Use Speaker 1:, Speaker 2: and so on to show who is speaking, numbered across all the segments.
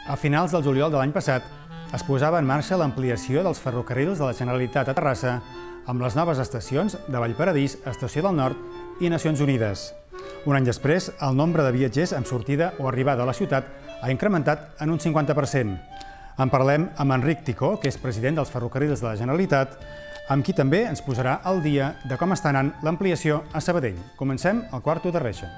Speaker 1: A finals del juliol de l'any passat es posava en marxa l'ampliació dels ferrocarrils de la Generalitat a Terrassa amb les noves estacions de Vallparadís, Estació del Nord i Nacions Unides. Un any després, el nombre de viatgers amb sortida o arribada a la ciutat ha incrementat en un 50%. En parlem amb Enric Ticó, que és president dels Ferrocarrils de la Generalitat, amb qui també ens posarà al dia de com està anant l'ampliació a Sabadell. Comencem al quarto de reixa.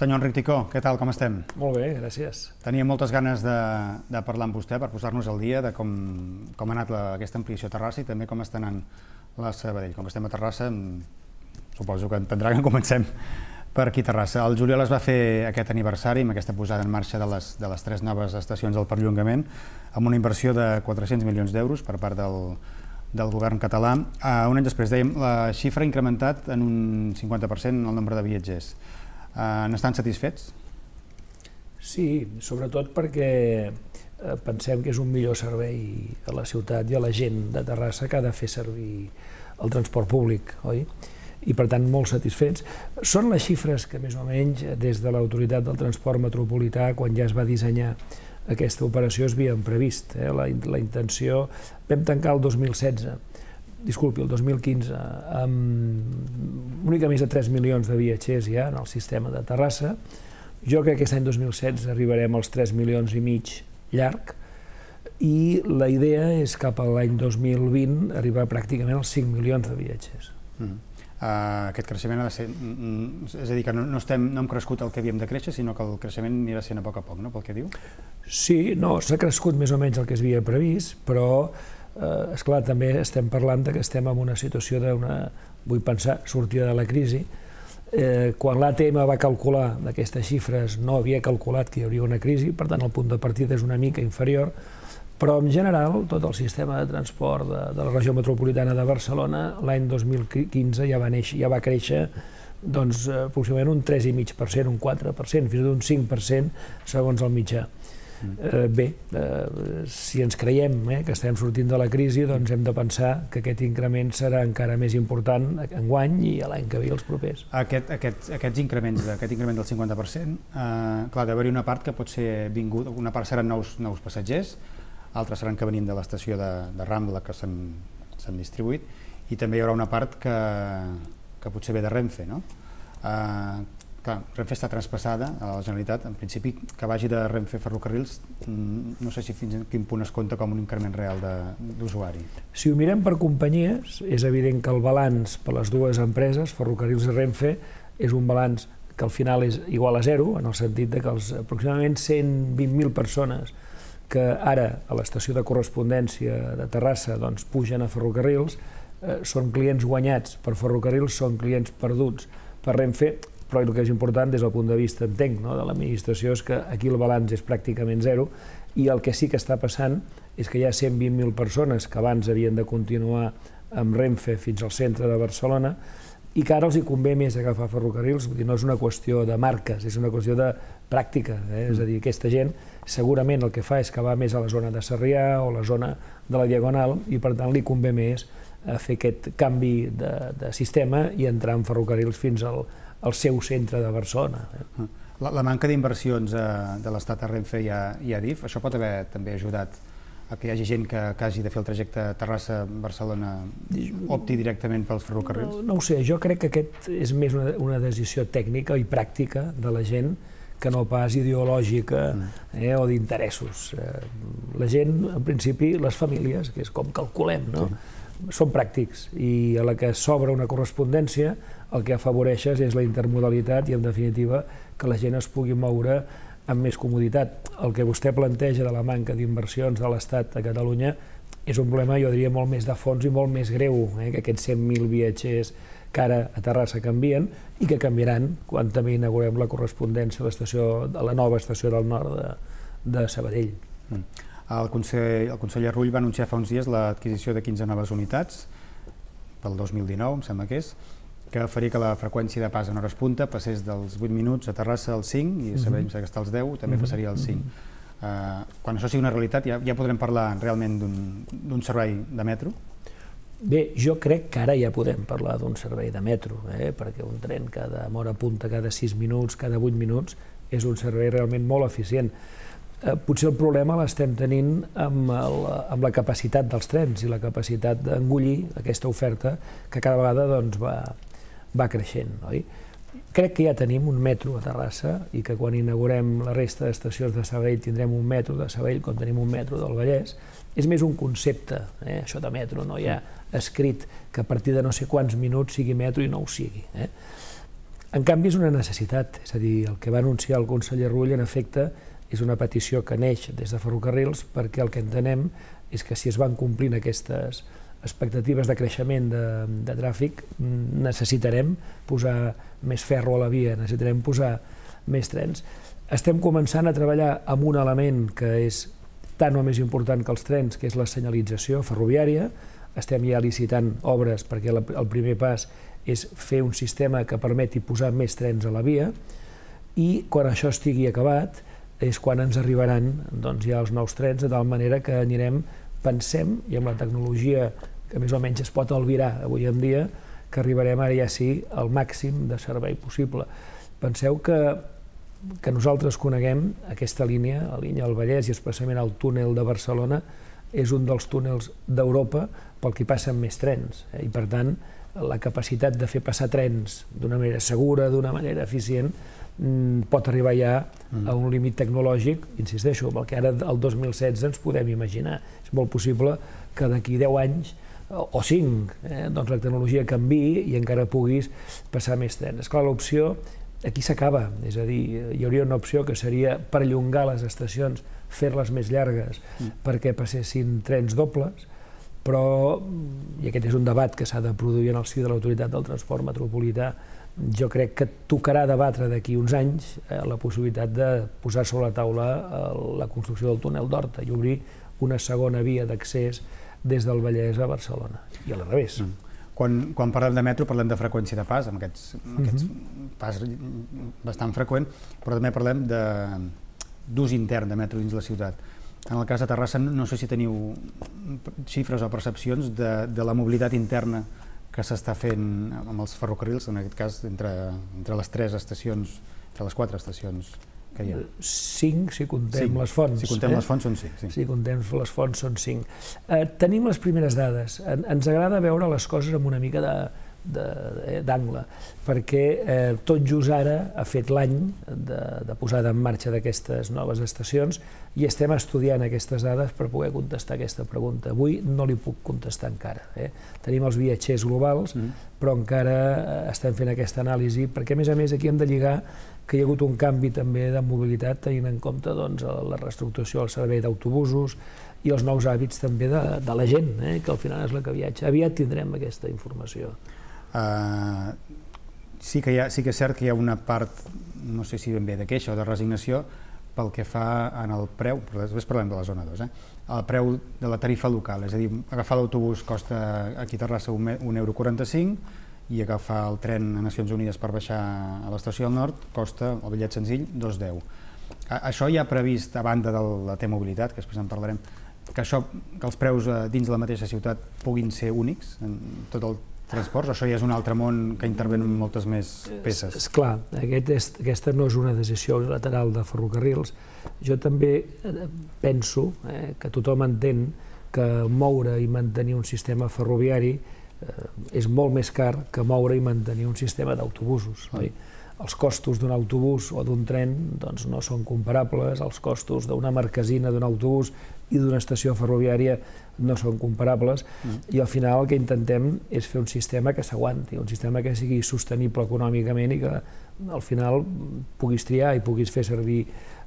Speaker 1: Senyor Enric Ticó, què tal, com estem?
Speaker 2: Molt bé, gràcies.
Speaker 1: Tenia moltes ganes de parlar amb vostè per posar-nos al dia de com ha anat aquesta ampliació a Terrassa i també com està anant la Sabadell. Com estem a Terrassa, suposo que entendrà que comencem per aquí a Terrassa. El juliol es va fer aquest aniversari amb aquesta posada en marxa de les 3 noves estacions del perllongament amb una inversió de 400 milions d'euros per part del govern català. Un any després, dèiem, la xifra ha incrementat en un 50% el nombre de viatgers. N'estan satisfets?
Speaker 2: Sí, sobretot perquè pensem que és un millor servei a la ciutat i a la gent de Terrassa que ha de fer servir el transport públic, oi? I per tant molt satisfets. Són les xifres que més o menys des de l'Autoritat del Transport Metropolità, quan ja es va dissenyar aquesta operació, es havien previst. La intenció, vam tancar el 2015, amb una mica més de 3 milions de viatgers ja en el sistema de Terrassa. Jo crec que aquest any 2016 arribarem als 3 milions i mig llarg i la idea és cap a l'any 2020 arribar pràcticament als 5 milions de viatgers.
Speaker 1: Aquest creixement ha de ser... És a dir, que no hem crescut el que havíem de créixer, sinó que el creixement anirà sent a poc, no?, pel que diu?
Speaker 2: Sí, no, s'ha crescut més o menys el que es havia previst, però esclar, també estem parlant que estem en una situació d'una, vull pensar, sortida de la crisi. Quan l'ATM va calcular d'aquestes xifres no havia calculat que hi hauria una crisi, per tant el punt de partida és una mica inferior, però en general tot el sistema de transport de la regió metropolitana de Barcelona l'any 2015 ja va créixer aproximadament un 3,5%, un 4%, fins i tot un 5% segons el mitjà. Bé, si ens creiem que estem sortint de la crisi, doncs hem de pensar que aquest increment serà encara més important enguany i l'any que ve els propers.
Speaker 1: Aquest increment del 50%, clar, d'haver-hi una part que pot ser vinguda, una part seran nous passatgers, altres seran que venim de l'estació de Rambla que s'han distribuït, i també hi haurà una part que potser ve de Renfe, no? Clar, Renfe està traspassada a la Generalitat, en principi que vagi de Renfe Ferrocarrils, no sé si fins a quin punt es compta com un increment real d'usuari.
Speaker 2: Si ho mirem per companyies, és evident que el balanç per les dues empreses, Ferrocarrils i Renfe, és un balanç que al final és igual a zero, en el sentit que els aproximadament 120.000 persones que ara a l'estació de correspondència de Terrassa pugen a Ferrocarrils, són clients guanyats per Ferrocarrils, són clients perduts per Renfe, però el que és important des del punt de vista, entenc, de l'administració és que aquí el balanç és pràcticament zero i el que sí que està passant és que hi ha 120.000 persones que abans havien de continuar amb Renfe fins al centre de Barcelona i que ara els hi convé més agafar ferrocarrils, vull dir, no és una qüestió de marques, és una qüestió de pràctica, és a dir, aquesta gent segurament el que fa és que va més a la zona de Sarrià o la zona de la Diagonal i per tant li convé més fer aquest canvi de sistema i entrar en ferrocarrils fins al seu centre de Barcelona.
Speaker 1: La manca d'inversions de l'Estat a Renfe i a Adif, això pot haver també ajudat a que hi hagi gent que hagi de fer el trajecte Terrassa-Barcelona opti directament pels ferrocarrils?
Speaker 2: No ho sé, jo crec que aquest és més una decisió tècnica i pràctica de la gent que no pas ideològica o d'interessos. La gent, en principi, les famílies, que és com calculem, són pràctics i a la que s'obre una correspondència el que afavoreixes és la intermodalitat i, en definitiva, que la gent es pugui moure amb més comoditat. El que vostè planteja de la manca d'inversions de l'Estat a Catalunya és un problema, jo diria, molt més de fons i molt més greu, que aquests 100.000 viatgers que ara a Terrassa canvien i que canviaran quan també inaugurem la correspondència a la nova estació del nord de Sabadell.
Speaker 1: El conseller Rull va anunciar fa uns dies l'adquisició de 15 noves unitats pel 2019, em sembla que és. que faria que la freqüència de pas en hores punta passés dels 8 minuts a Terrassa als 5 i sabem que està als 10 també passaria als 5. Quan això sigui una realitat ja podrem parlar realment d'un servei de metro?
Speaker 2: Bé, jo crec que ara ja podem parlar d'un servei de metro, perquè un tren amb hora punta cada 6 minuts, cada 8 minuts, és un servei realment molt eficient. Potser el problema l'estem tenint amb la capacitat dels trens i la capacitat d'engollir aquesta oferta que cada vegada va creixent. Crec que ja tenim un metro a Terrassa i que quan inaugurem la resta d'estacions de Sabadell tindrem un metro de Sabadell com tenim un metro del Vallès. És més un concepte, això de metro, no hi ha escrit que a partir de no sé quants minuts sigui metro i no ho sigui. En canvi és una necessitat, és a dir, el que va anunciar el conseller Rull en efecte és una petició que neix des de Ferrocarrils perquè el que entenem és que si es van complint aquestes expectatives de creixement de tràfic necessitarem posar més ferro a la via, necessitarem posar més trens. Estem començant a treballar amb un element que és tant o més important que els trens, que és la senyalització ferroviària. Estem ja licitant obres perquè el primer pas és fer un sistema que permeti posar més trens a la via i quan això estigui acabat és quan ens arribaran ja els nous trens, de tal manera que anirem, pensem, i amb la tecnologia que més o menys es pot albirar avui en dia, que arribarem ara ja sí al màxim de servei possible. Penseu que nosaltres coneguem aquesta línia, la línia del Vallès i especialment el túnel de Barcelona, és un dels túnels d'Europa pel que passen més trens i per tant la capacitat de fer passar trens d'una manera segura, d'una manera eficient, pot arribar ja a un límit tecnològic, insisteixo, amb el que ara el 2016 ens podem imaginar. És molt possible que d'aquí 10 anys o 5 la tecnologia canviï i encara puguis passar més trens. Esclar, l'opció aquí s'acaba, és a dir, hi hauria una opció que seria perllongar les estacions, fer-les més llargues perquè passessin trens dobles, però, i aquest és un debat que s'ha de produir en el si de l'Autoritat del Transport Metropolità, jo crec que tocarà debatre d'aquí uns anys la possibilitat de posar sobre la taula la construcció del túnel d'Horta i obrir una segona via d'accés des del Vallès a Barcelona, i al revés.
Speaker 1: Quan parlem de metro parlem de freqüència de pas, amb aquest pas bastant freqüent, però també parlem d'ús intern de metro dins la ciutat. En el cas de Terrassa no sé si teniu xifres o percepcions de la mobilitat interna que s'està fent amb els ferrocarrils, en aquest cas entre les 3 estacions, entre les 4 estacions que hi ha.
Speaker 2: 5, si contem les fonts.
Speaker 1: Si contem les fonts són 5.
Speaker 2: Si contem les fonts són 5. Tenim les primeres dades. Ens agrada veure les coses amb una mica d'angle, perquè tot just ara ha fet l'any de posada en marxa d'aquestes noves estacions i estem estudiant aquestes dades per poder contestar aquesta pregunta. Avui no li puc contestar encara. Tenim els viatgers globals, però encara estem fent aquesta anàlisi, perquè a més aquí hem de lligar que hi ha hagut un canvi també de mobilitat tenint en compte la reestructuració del servei d'autobusos i els nous hàbits també de la gent, que al final és la que viatja. Aviat tindrem aquesta informació.
Speaker 1: Sí que és cert que hi ha una part, no sé si ben bé de queixa o de resignació, pel que fa en el preu, però després parlem de la zona 2, el preu de la tarifa local, és a dir, agafar l'autobús costa aquí a Terrassa €1,45 i agafar el tren a Nacions Unides per baixar a l'estació del Nord costa, el bitllet senzill, €2,10. Això ja ha previst, a banda de la T-mobilitat, que després en parlarem, que els preus dins de la mateixa ciutat puguin ser únics en tot el transports, o això ja és un altre món que intervenen moltes més peces?
Speaker 2: Esclar, aquesta no és una decisió unilateral de Ferrocarrils. Jo també penso que tothom entén que moure i mantenir un sistema ferroviari és molt més car que moure i mantenir un sistema d'autobusos. Els costos d'un autobús o d'un tren no són comparables, els costos d'una marquesina d'un autobús i d'una estació ferroviària no són comparables, i al final el que intentem és fer un sistema que s'aguanti, un sistema que sigui sostenible econòmicament i que al final puguis triar i puguis fer servir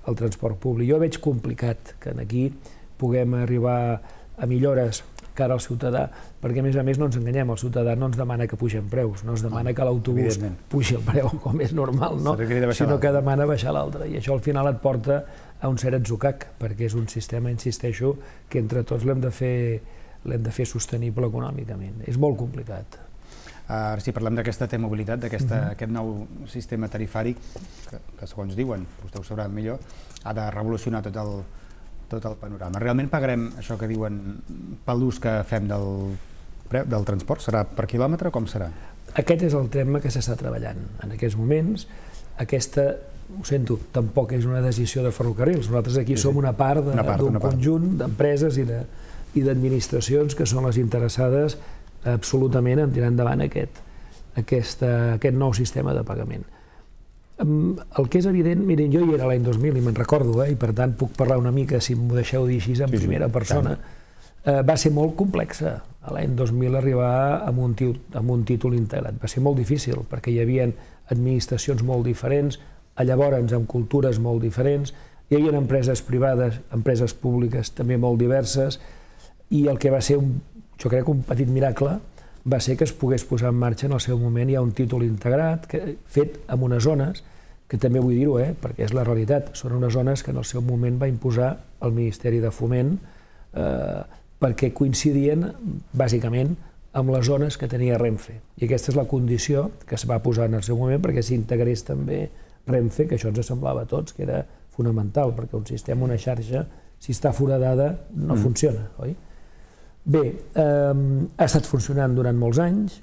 Speaker 2: el transport públic. Jo veig complicat que aquí puguem arribar a millores cara al ciutadà, perquè a més no ens enganyem, el ciutadà no ens demana que pugem preus, no ens demana que l'autobús pugi el preu, com és normal, sinó que demana baixar l'altre, i això al final et porta a un cert atzucac, perquè és un sistema, insisteixo, que entre tots l'hem de fer sostenible econòmicament. És molt complicat.
Speaker 1: Ara si parlem d'aquesta T-mobilitat, d'aquest nou sistema tarifari que segons diuen, vostè ho sabrà millor, ha de revolucionar tot el panorama. Realment pagarem això que diuen per l'ús que fem del transport? Serà per quilòmetre o com serà?
Speaker 2: Aquest és el tema que s'està treballant en aquests moments. Aquesta, ho sento, tampoc és una decisió de ferrocarrils. Nosaltres aquí som una part d'un conjunt d'empreses i d'administracions que són les interessades absolutament en tirar endavant aquest nou sistema de pagament. El que és evident, miren, jo hi era l'any 2000 i me'n recordo, i per tant puc parlar una mica, si m'ho deixeu dir així, en primera persona. Va ser molt complexa l'any 2000 arribar amb un títol integrat. Va ser molt difícil perquè hi havia administracions molt diferents, llavors amb cultures molt diferents, hi havia empreses privades, empreses públiques també molt diverses, i el que va ser, jo crec, un petit miracle va ser que es pogués posar en marxa en el seu moment. Hi ha un títol integrat fet en unes zones, que també vull dir-ho, perquè és la realitat, són unes zones que en el seu moment va imposar el Ministeri de Foment perquè coincidien bàsicament amb les zones que tenia Renfe. I aquesta és la condició que es va posar en el seu moment perquè s'integrés també Renfe, que això ens semblava a tots que era fonamental, perquè un sistema, una xarxa, si està foradada, no funciona, oi? Bé, ha estat funcionant durant molts anys.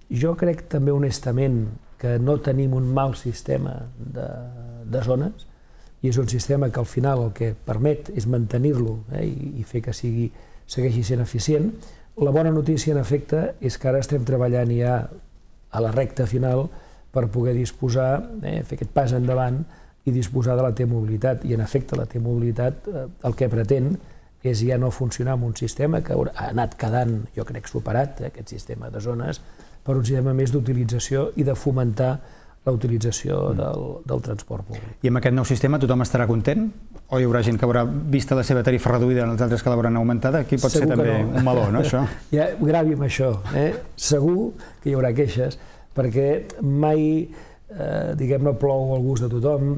Speaker 2: Jo crec també honestament que no tenim un mal sistema de zones i és un sistema que al final el que permet és mantenir-lo i fer que segueixi sent eficient. La bona notícia, en efecte, és que ara estem treballant ja a la recta final per poder disposar, fer aquest pas endavant i disposar de la T-mobilitat. I, en efecte, la T-mobilitat el que pretén és ja no funcionar amb un sistema que ha anat quedant, jo crec, superat, aquest sistema de zones, per un sistema més d'utilització i de fomentar la utilització del transport públic.
Speaker 1: I amb aquest nou sistema tothom estarà content? O hi haurà gent que haurà vist la seva tarifa reduïda i els altres que l'hauran augmentada? Aquí pot ser també un meló, no, això?
Speaker 2: Ja, gravi amb això. Segur que hi haurà queixes, perquè mai, diguem-ne, plou al gust de tothom,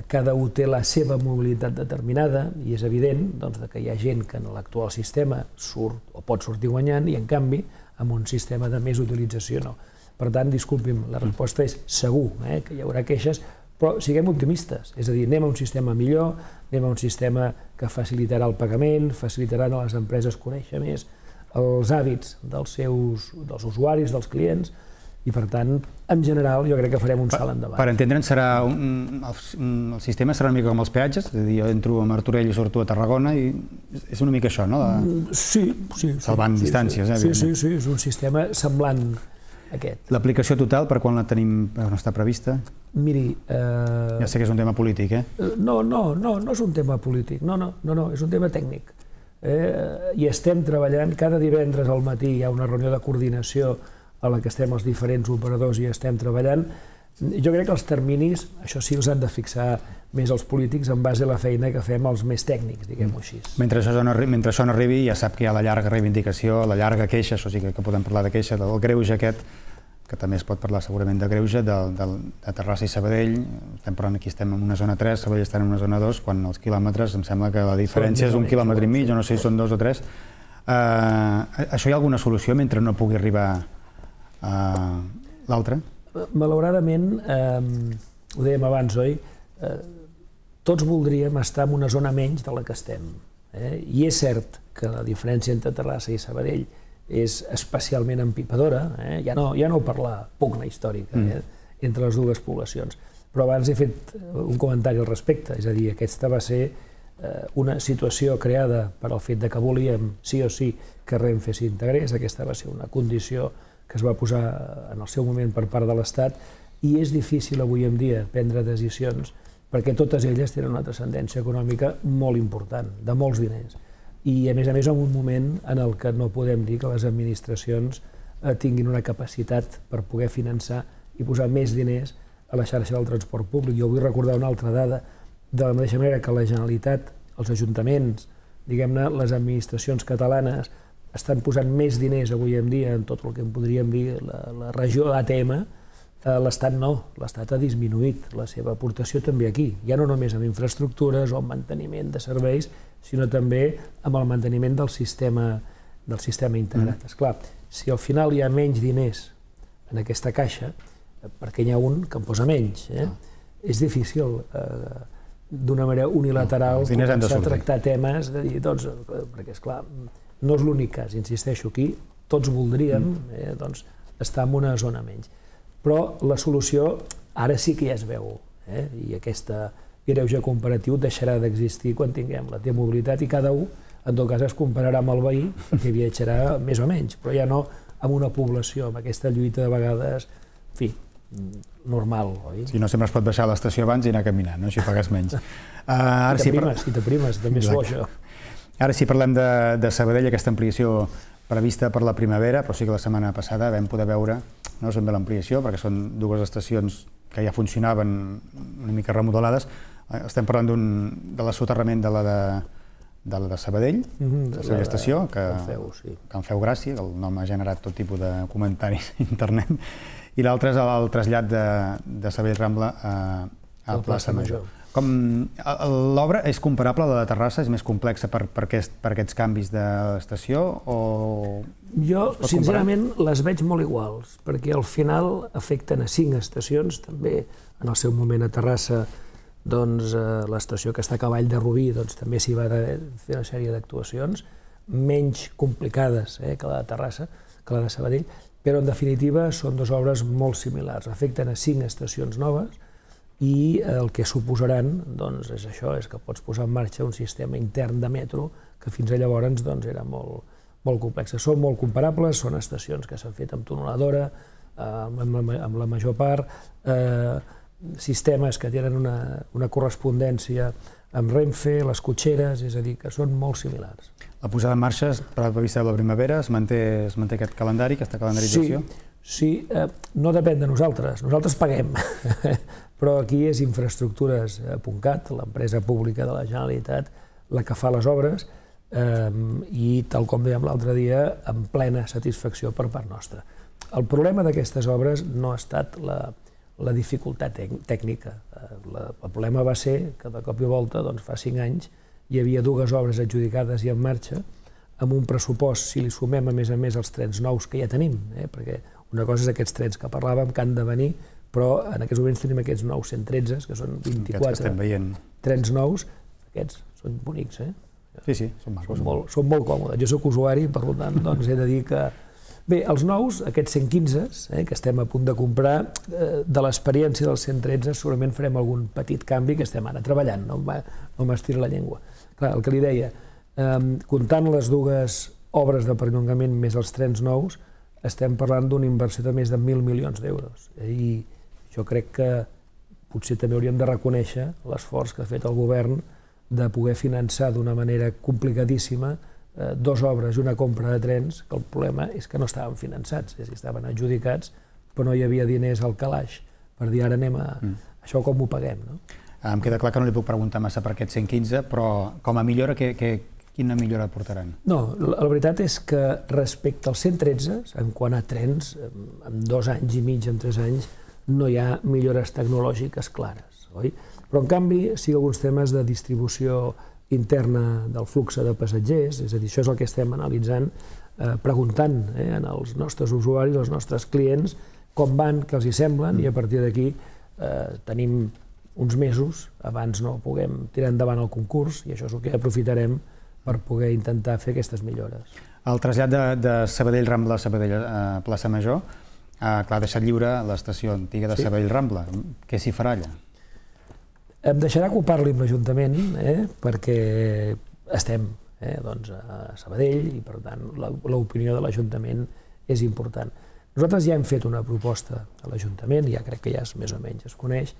Speaker 2: cada un té la seva mobilitat determinada i és evident que hi ha gent que en l'actual sistema surt o pot sortir guanyant i, en canvi, amb un sistema de més utilització no. Per tant, disculpi'm, la resposta és segur que hi haurà queixes, però siguem optimistes, és a dir, anem a un sistema millor, anem a un sistema que facilitarà el pagament, facilitarà a les empreses conèixer més els hàbits dels usuaris, dels clients, i per tant, en general, jo crec que farem un salt endavant.
Speaker 1: Per entendre'ns, el sistema serà una mica com els peatges, és a dir, jo entro a Martorell i surto a Tarragona i és una mica això, no?
Speaker 2: Sí.
Speaker 1: Salvant distàncies,
Speaker 2: Sí, és un sistema semblant aquest.
Speaker 1: L'aplicació total, per quan la tenim, on està prevista?
Speaker 2: Miri...
Speaker 1: Ja sé que és un tema polític,
Speaker 2: No és un tema polític, no, és un tema tècnic. I estem treballant, cada divendres al matí hi ha una reunió de coordinació a la que estem els diferents operadors i estem treballant. Jo crec que els terminis, això sí, els han de fixar més els polítics en base a la feina que fem els més tècnics, diguem-ho així.
Speaker 1: Mentre això no arribi, ja sap que hi ha la llarga reivindicació, la llarga queixa, això sí que podem parlar de queixa, del greuge aquest, que també es pot parlar segurament de greuge, de Terrassa i Sabadell. Estem parlant aquí, estem en una zona 3, Sabadell està en una zona 2, quan els quilòmetres, em sembla que la diferència és 1,5 quilòmetre, jo no sé si són 2 o 3. Això hi ha alguna solució mentre no pugui arribar l'altre?
Speaker 2: Malauradament, ho dèiem abans, oi? Tots voldríem estar en una zona menys de la que estem. I és cert que la diferència entre Terrassa i Sabadell és especialment empipadora, ja no parlar pugna històrica entre les dues poblacions. Però abans he fet un comentari al respecte, és a dir, aquesta va ser una situació creada per al fet que volíem sí o sí que Renfe s'integrés, aquesta va ser una condició que es va posar en el seu moment per part de l'Estat, i és difícil avui en dia prendre decisions perquè totes elles tenen una transcendència econòmica molt important, de molts diners. I a més en un moment en el que no podem dir que les administracions tinguin una capacitat per poder finançar i posar més diners a la xarxa del transport públic. Jo vull recordar una altra dada, de la mateixa manera que la Generalitat, els ajuntaments, diguem-ne, les administracions catalanes, estan posant més diners avui en dia en tot el que en podríem dir la regió ATM, l'Estat no, l'Estat ha disminuït la seva aportació també aquí, ja no només amb infraestructures o amb manteniment de serveis, sinó també amb el manteniment del sistema integrat. Esclar, si al final hi ha menys diners en aquesta caixa, perquè n'hi ha un que en posa menys. És difícil d'una manera unilateral començar a tractar temes de dir, doncs, perquè esclar, no és l'únic cas, insisteixo, aquí tots voldríem estar en una zona menys. Però la solució ara sí que ja es veu, i aquest greuge comparatiu deixarà d'existir quan tinguem la T-mobilitat i cada un, en tot cas, es compararà amb el veí perquè viatjarà més o menys, però ja no amb una població, amb aquesta lluita de vegades, en fi, normal, oi?
Speaker 1: Sí, no sempre es pot baixar a l'estació abans i anar caminant, no? Així pagues menys.
Speaker 2: I t'aprimes, també és bo això.
Speaker 1: Ara sí parlem de Sabadell, aquesta ampliació prevista per la primavera, però sí que la setmana passada vam poder veure, no és ben bé l'ampliació, perquè són dues estacions que ja funcionaven una mica remodelades. Estem parlant de l'assoterrament de la de Sabadell, de la estació, que en feu gràcia, el nom ha generat tot tipus de comentaris a internet, i l'altre és el trasllat de Sabadell Rambla a Plaça Major. L'obra és comparable a la de Terrassa? És més complexa per aquests canvis de l'estació?
Speaker 2: Jo, sincerament, les veig molt iguals, perquè al final afecten a 5 estacions, també en el seu moment a Terrassa, l'estació que està a cavall de Rubí també s'hi va fer una sèrie d'actuacions, menys complicades que la de Terrassa, que la de Sabadell, però en definitiva són 2 obres molt similars, afecten a 5 estacions noves, i el que suposaran és això, és que pots posar en marxa un sistema intern de metro que fins a llavors era molt complex. Són molt comparables, són estacions que s'han fet amb tuneladora, amb la major part, sistemes que tenen una correspondència amb Renfe, les cotxeres, és a dir, que són molt similars.
Speaker 1: La posada en marxa és prevista la primavera, es manté aquest calendari, aquesta calendarització?
Speaker 2: Sí, no depèn de nosaltres paguem, però aquí és Infraestructures.cat, l'empresa pública de la Generalitat, la que fa les obres i, tal com dèiem l'altre dia, amb plena satisfacció per part nostra. El problema d'aquestes obres no ha estat la dificultat tècnica. El problema va ser que de cop i volta, fa 5 anys, hi havia 2 obres adjudicades i en marxa, amb un pressupost, si li sumem a més els trens nous que ja tenim, perquè una cosa és aquests trens que parlàvem, que han de venir, però en aquests moments tenim aquests 913, que són 24 trens nous, aquests són bonics,
Speaker 1: Sí, són macos.
Speaker 2: Són molt còmodes. Jo soc usuari, per tant, he de dir que... Bé, els nous, aquests 115, que estem a punt de comprar, de l'experiència dels 113 segurament farem algun petit canvi que estem ara treballant, no m'estira la llengua. Clar, el que li deia, comptant les 2 obres de perllongament més els trens nous, estem parlant d'una inversió de més de 1.000 milions d'euros. I jo crec que potser també hauríem de reconèixer l'esforç que ha fet el govern de poder finançar d'una manera complicadíssima 2 obres i una compra de trens, que el problema és que no estaven finançats, és a dir, estaven adjudicats, però no hi havia diners al calaix per dir ara anem a... Això com ho paguem, no?
Speaker 1: Em queda clar que no li puc preguntar massa per aquests 115, però com a millora, quina millora portaran?
Speaker 2: No, la veritat és que respecte als 113, en quant a trens, en 2 anys i mig, en 3 anys, no hi ha millores tecnològiques clares, oi? Però en canvi sí alguns temes de distribució interna del flux de passatgers, és a dir, això és el que estem analitzant, preguntant als nostres usuaris, als nostres clients, com van, què els hi semblen, i a partir d'aquí tenim uns mesos, abans no puguem tirar endavant el concurs, i això és el que aprofitarem per poder intentar fer aquestes millores.
Speaker 1: El trasllat de Sabadell Rambla a Sabadell Plaça Major, clar, ha deixat lliure l'estació antiga de Sabadell Rambla. Què s'hi farà allà?
Speaker 2: Em deixarà que ho parli amb l'Ajuntament, perquè estem a Sabadell i, per tant, l'opinió de l'Ajuntament és important. Nosaltres ja hem fet una proposta a l'Ajuntament, ja crec que ja més o menys es coneix.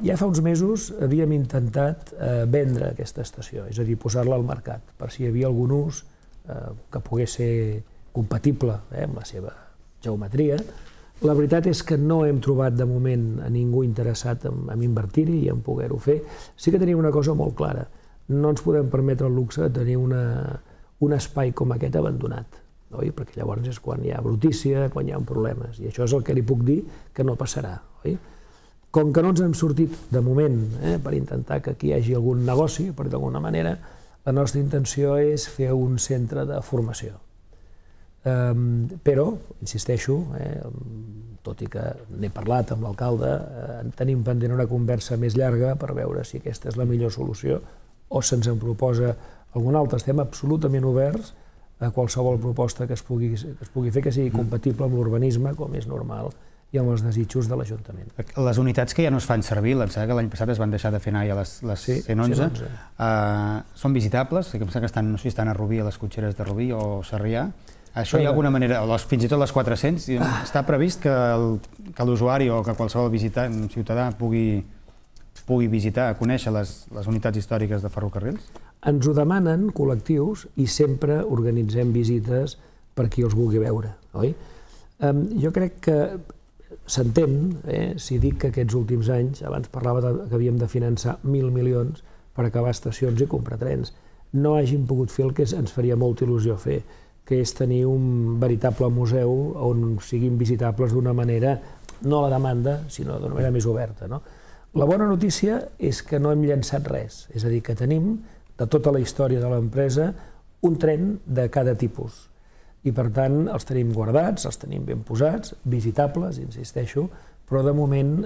Speaker 2: Ja fa uns mesos havíem intentat vendre aquesta estació, és a dir, posar-la al mercat, per si hi havia algun ús que pogués ser compatible amb la seva geometria. La veritat és que no hem trobat de moment a ningú interessat en invertir-hi i en poder-ho fer. Sí que tenim una cosa molt clara, no ens podem permetre el luxe de tenir un espai com aquest abandonat, perquè llavors és quan hi ha brutícia, quan hi ha problemes, i això és el que li puc dir que no passarà. Com que no ens hem sortit de moment per intentar que aquí hi hagi algun negoci, per d'alguna manera, la nostra intenció és fer un centre de formació. Però, insisteixo, tot i que n'he parlat amb l'alcalde, tenim pendent una conversa més llarga per veure si aquesta és la millor solució o se'ns en proposa alguna altra. Estem absolutament oberts a qualsevol proposta que es pugui fer que sigui compatible amb l'urbanisme, com és normal, i amb els desitjos de l'Ajuntament.
Speaker 1: Les unitats que ja no es fan servir, em sembla que l'any passat es van deixar de fer anar ja les 111, són visitables? Em sembla que no sé si estan a Rubí, a les cotxeres de Rubí o Sarrià. Això hi ha alguna manera, fins i tot les 400, està previst que l'usuari o que qualsevol visitant, ciutadà, pugui visitar, conèixer les unitats històriques de ferrocarrils?
Speaker 2: Ens ho demanen col·lectius i sempre organitzem visites per qui els vulgui veure, oi? Jo crec que s'entén, si dic que aquests últims anys, abans parlava que havíem de finançar 1.000 milions per acabar estacions i comprar trens, no hàgim pogut fer el que ens faria molta il·lusió fer, que és tenir un veritable museu on siguin visitables d'una manera, no a la demanda, sinó d'una manera més oberta. La bona notícia és que no hem llançat res, és a dir, que tenim, de tota la història de l'empresa, un tren de cada tipus. I per tant els tenim guardats, els tenim ben posats, visitables, insisteixo, però de moment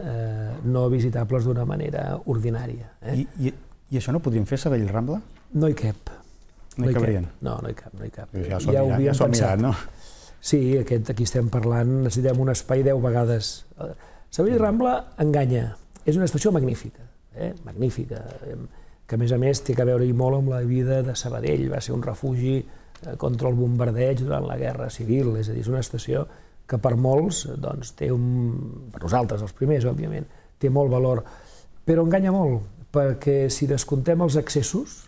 Speaker 2: no visitables d'una manera ordinària.
Speaker 1: I això no ho podríem fer a Sabadell Rambla?
Speaker 2: No hi cap.
Speaker 1: No hi cabrien?
Speaker 2: No, no hi cap, no hi cap.
Speaker 1: Ja s'ho ha mirat, no?
Speaker 2: Sí, aquí estem parlant, necessitem un espai 10 vegades. Sabadell Rambla enganya, és una estació magnífica, magnífica, que a més té a veure molt amb la vida de Sabadell, va ser un refugi contra el bombardeig durant la Guerra Civil, és a dir, és una estació que per molts, doncs, té per nosaltres, els primers, òbviament, té molt valor, però enganya molt, perquè si descomptem els accessos,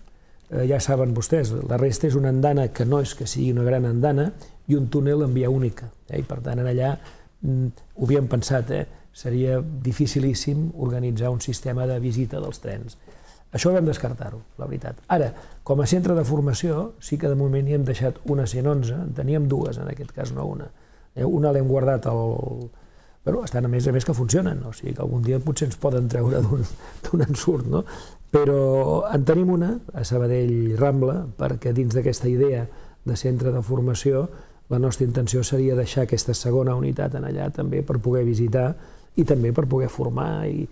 Speaker 2: ja saben vostès, la resta és una andana que no és que sigui una gran andana i un túnel en via única, i per tant allà ho havíem pensat, seria dificilíssim organitzar un sistema de visita dels trens. Això vam descartar-ho, la veritat. Ara, com a centre de formació, sí que de moment hi hem deixat una 111, en teníem dues en aquest cas, no una. Una l'hem guardat Però estan a més que funcionen, o sigui que algun dia potser ens poden treure d'un ensurt, no? Però en tenim una, a Sabadell Rambla, perquè dins d'aquesta idea de centre de formació, la nostra intenció seria deixar aquesta segona unitat en allà també per poder visitar i també per poder formar, i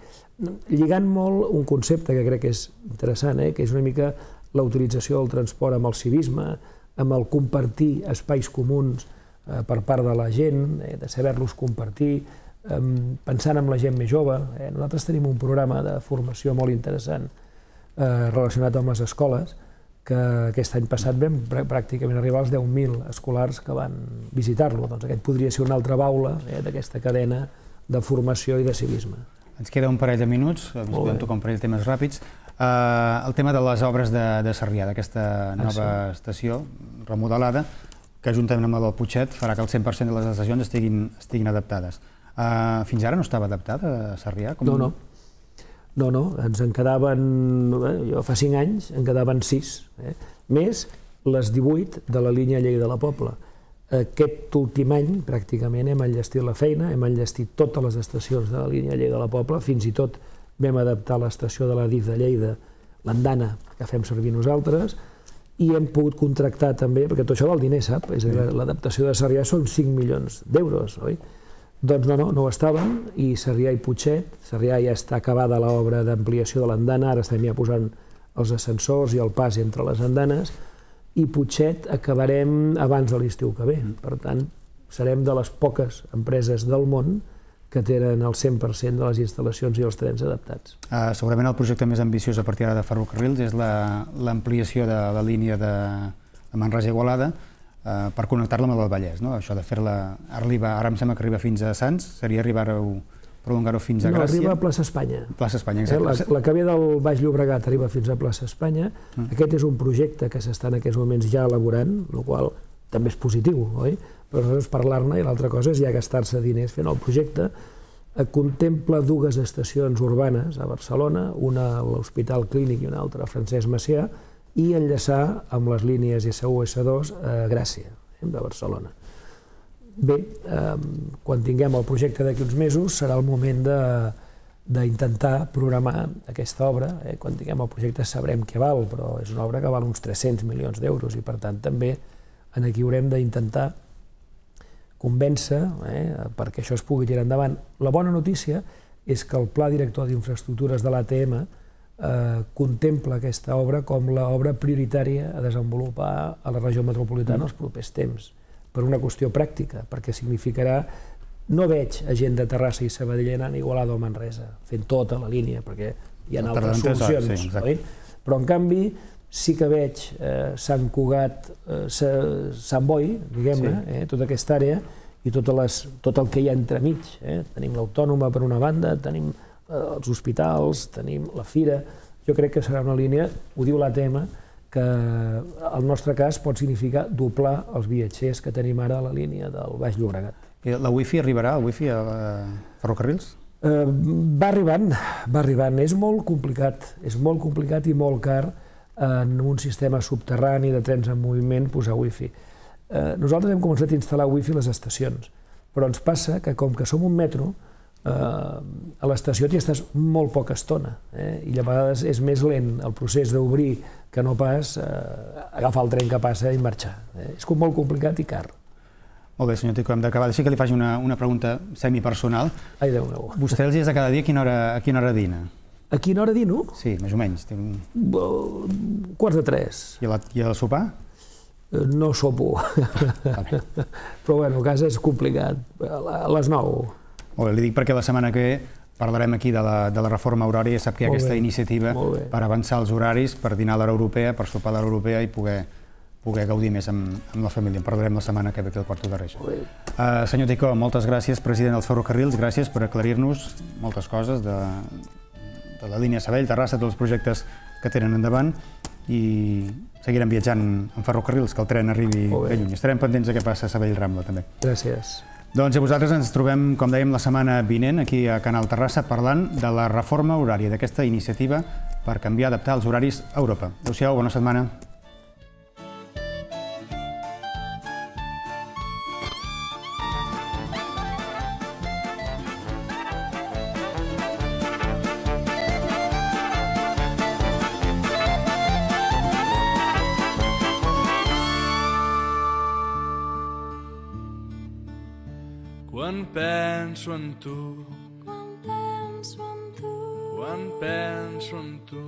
Speaker 2: lligant molt un concepte que crec que és interessant, que és una mica la utilització del transport amb el civisme, amb el compartir espais comuns per part de la gent, de saber-los compartir, pensant en la gent més jove. Nosaltres tenim un programa de formació molt interessant relacionat amb les escoles, que aquest any passat vam pràcticament arribar als 10.000 escolars que van visitar-lo. Doncs aquest podria ser una altra baula d'aquesta cadena de formació i de civisme.
Speaker 1: Ens queda un parell de minuts, podem tocar un parell de temes ràpids. El tema de les obres de Sarrià, d'aquesta nova estació remodelada, que juntament amb la del Putxet farà que el 100% de les estacions estiguin adaptades. Fins ara no estava adaptada a Sarrià?
Speaker 2: No, ens en quedaven, jo fa 5 anys, en quedaven 6, més les 18 de la línia Lleida de la Pobla. Aquest últim any, pràcticament, hem enllestit la feina, hem enllestit totes les estacions de la línia Lleida de la Pobla, fins i tot vam adaptar l'estació de la DIF de Lleida, l'andana que fem servir nosaltres, i hem pogut contractar també, perquè tot això val diner, sap? És a dir, l'adaptació de Sarrià són 5 milions d'euros, oi? Doncs no ho estaven, i Sarrià i Putxet, Sarrià ja està acabada l'obra d'ampliació de l'andana, ara estem ja posant els ascensors i el pas entre les andanes, i Putxet acabarem abans de l'estiu que ve. Per tant, serem de les poques empreses del món que tenen el 100% de les instal·lacions i els trens adaptats.
Speaker 1: Segurament el projecte més ambiciós a partir de ferrocarrils és l'ampliació de la línia de Manresa-Igualada per connectar-la amb el Vallès. Això de fer-la, ara em sembla que arriba fins a Sants, seria prolongar-ho fins a Gràcia.
Speaker 2: No, arriba a Plaça Espanya.
Speaker 1: Plaça Espanya, exacte.
Speaker 2: La que ve del Baix Llobregat arriba fins a Plaça Espanya. Aquest és un projecte que s'està en aquests moments ja elaborant, el qual també és positiu, oi? Però nosaltres parlar-ne, i l'altra cosa és ja gastar-se diners fent el projecte. Contempla 2 estacions urbanes a Barcelona, una a l'Hospital Clínic i una altra a Francesc Macià, i enllaçar amb les línies S1 i S2 a Gràcia, de Barcelona. Bé, quan tinguem el projecte d'aquí uns mesos serà el moment d'intentar programar aquesta obra. Quan tinguem el projecte sabrem què val, però és una obra que val uns 300 milions d'euros i per tant també aquí haurem d'intentar convèncer perquè això es pugui tirar endavant. La bona notícia és que el Pla Director d'Infraestructures de l'ATM contempla aquesta obra com l'obra prioritària a desenvolupar a la regió metropolitana els propers temps, per una qüestió pràctica, perquè significarà... No veig a gent de Terrassa i Sabadell anant a Igualada o Manresa, fent tota la línia, perquè hi ha altres solucions, però en canvi sí que veig Sant Cugat, Sant Boi, diguem-ne, tota aquesta àrea, i tot el que hi ha entremig. Tenim l'Autònoma per una banda, tenim els hospitals, tenim la Fira. Jo crec que serà una línia, ho diu l'ATM, que al nostre cas pot significar doblar els viatgers que tenim ara a la línia del Baix Llobregat.
Speaker 1: La Wi-Fi arribarà, el Wi-Fi a ferrocarrils?
Speaker 2: Va arribant. És molt complicat i molt car en un sistema subterrani de trens en moviment posar Wi-Fi. Nosaltres hem començat a instal·lar Wi-Fi a les estacions, però ens passa que com que som un metro, a l'estació t'hi estàs molt poca estona i a vegades és més lent el procés d'obrir que no pas agafar el tren que passa i marxar. És molt complicat i car.
Speaker 1: Molt bé, senyor Ticó, hem d'acabar. Deixa que li faci una pregunta semipersonal.
Speaker 2: Ai, Déu meu.
Speaker 1: Vostè els dies de cada dia a quina hora dina?
Speaker 2: A quina hora dino?
Speaker 1: Sí, més o menys.
Speaker 2: 2:45.
Speaker 1: I el sopar?
Speaker 2: No sopo. Però bueno, a casa és complicat. A les 9.
Speaker 1: Molt bé, li dic perquè la setmana que ve parlarem aquí de la reforma horària, sap que hi ha aquesta iniciativa per avançar els horaris, per dinar a l'hora europea, per sopar a l'hora europea i poder gaudir més amb la família. En parlarem la setmana que ve aquí al Quarto de Reis. Senyor Ticó, moltes gràcies, president dels ferrocarrils, gràcies per aclarir-nos moltes coses de la línia Sabadell-Terrassa, tots els projectes que tenen endavant i seguirem viatjant en ferrocarrils, que el tren arribi ben lluny. Estarem pendents de què passa a Sabadell-Rambla, també.
Speaker 2: Gràcies.
Speaker 1: Doncs a vosaltres ens trobem, com dèiem, la setmana vinent aquí a Canal Terrassa parlant de la reforma horària, d'aquesta iniciativa per canviar, adaptar els horaris a Europa. Adéu-siau, bona setmana.
Speaker 3: Quan penso en tu,
Speaker 4: quan penso en tu,
Speaker 3: quan penso en tu,